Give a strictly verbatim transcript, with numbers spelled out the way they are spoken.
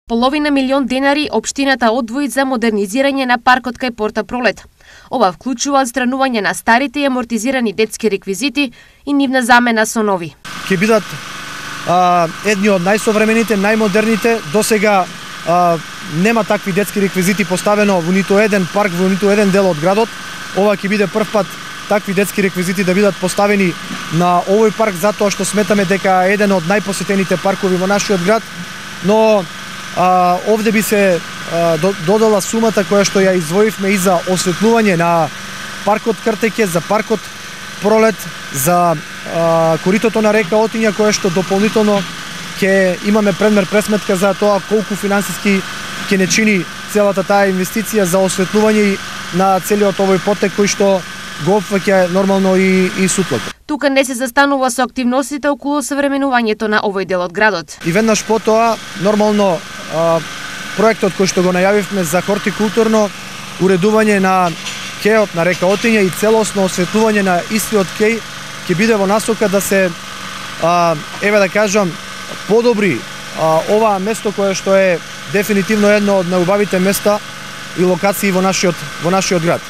Половина милион денари општината одвои за модернизирање на паркот кај Порта Пролет. Ова вклучува отстранување на старите и амортизирани детски реквизити и нивна замена со нови. Ќе бидат а, едни од најсовремените, најмодерните. Досега а, нема такви детски реквизити поставено во ниту еден парк, во ниту еден дел од градот. Ова ќе биде прв пат такви детски реквизити да бидат поставени на овој парк, затоа што сметаме дека е еден од најпосетените паркови во нашиот град, но а, овде би се а, додала сумата која што ја издвоивме и за осветлување на паркот Кртеќе, за паркот Пролет, за а, коритото на река Отиња, која што дополнително ќе имаме предмер пресметка за тоа колку финансиски ќе не чини целата таа инвестиција за осветлување на целиот овој потек кој што го опфаќа нормално и, и сутлото. Тука не се застанува со активностите околу современувањето на овој дел од градот. И веднаш потоа, нормално, а, проектот кој што го најавивме за хортикултурно уредување на кејот на река Отиња и целосно осветлување на истиот кеј ќе биде во насока да се, а, еве да кажам, подобри а, ова место кое што е дефинитивно едно од најубавите места и локации во нашиот во нашиот град.